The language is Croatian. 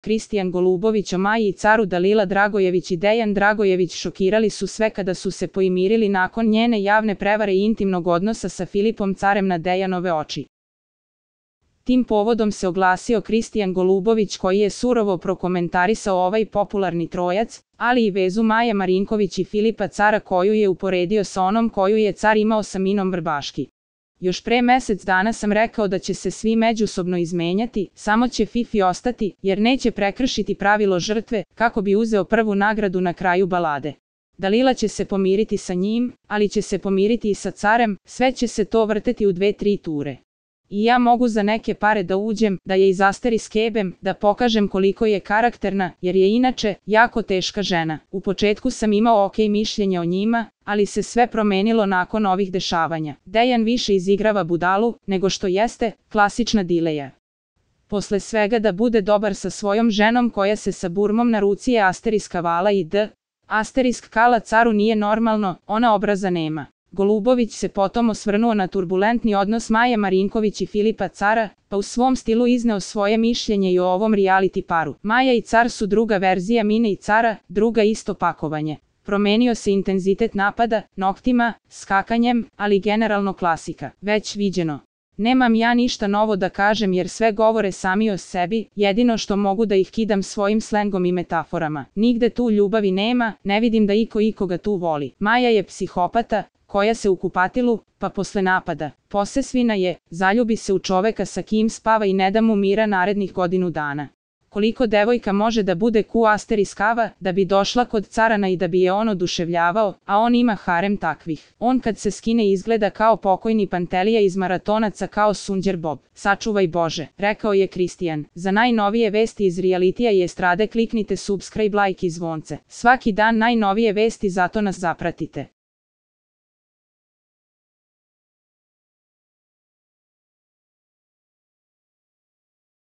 Kristijan Golubović o Maji i caru. Dalila Dragojević i Dejan Dragojević šokirali su sve kada su se poimirili nakon njene javne prevare i intimnog odnosa sa Filipom carem na Dejanove oči. Tim povodom se oglasio Kristijan Golubović koji je surovo prokomentarisao ovaj popularni trojac, ali i vezu Maje Marinković i Filipa cara koju je uporedio sa onom koju je car imao sa Minom Vrbaški. Još pre mesec dana sam rekao da će se svi međusobno izmenjati, samo će Fifi ostati, jer neće prekršiti pravilo žrtve, kako bi uzeo prvu nagradu na kraju balade. Dalila će se pomiriti sa njim, ali će se pomiriti i sa carem, sve će se to vrteti u 2-3 ture. I ja mogu za neke pare da uđem, da je izasteri skebem, da pokažem koliko je karakterna, jer je inače jako teška žena. U početku sam imao ok mišljenje o njima, ali se sve promenilo nakon ovih dešavanja. Dejan više izigrava budalu, nego što jeste, klasična dileja. Posle svega da bude dobar sa svojom ženom koja se sa burmom na ruci je asteriska vala i asterisk kala caru nije normalno, ona obraza nema. Golubović se potom osvrnuo na turbulentni odnos Maje Marinković i Filipa cara, pa u svom stilu izneo svoje mišljenje i o ovom reality paru. Maja i car su druga verzija Mine i cara, druga isto pakovanje. Promenio se intenzitet napada, noktima, skakanjem, ali generalno klasika. Već viđeno. Nemam ja ništa novo da kažem jer sve govore sami o sebi, jedino što mogu da ih kidam svojim slengom i metaforama. Nigde tu ljubavi nema, ne vidim da iko ikoga tu voli. Maja je psihopata, koja se u kupatilu, pa posle napada, posesvina je, zaljubi se u čoveka sa kim spava i ne da mu mira narednih godinu dana. Koliko devojka može da bude asteriskava, da bi došla kod carana i da bi je on oduševljavao, a on ima harem takvih. On kad se skine izgleda kao pokojni Pantelija iz Maratonaca kao Sunđer Bob. Sačuvaj Bože, rekao je Kristijan. Za najnovije vesti iz realitija i estrade kliknite subscribe, like i zvonce. Svaki dan najnovije vesti, zato nas zapratite.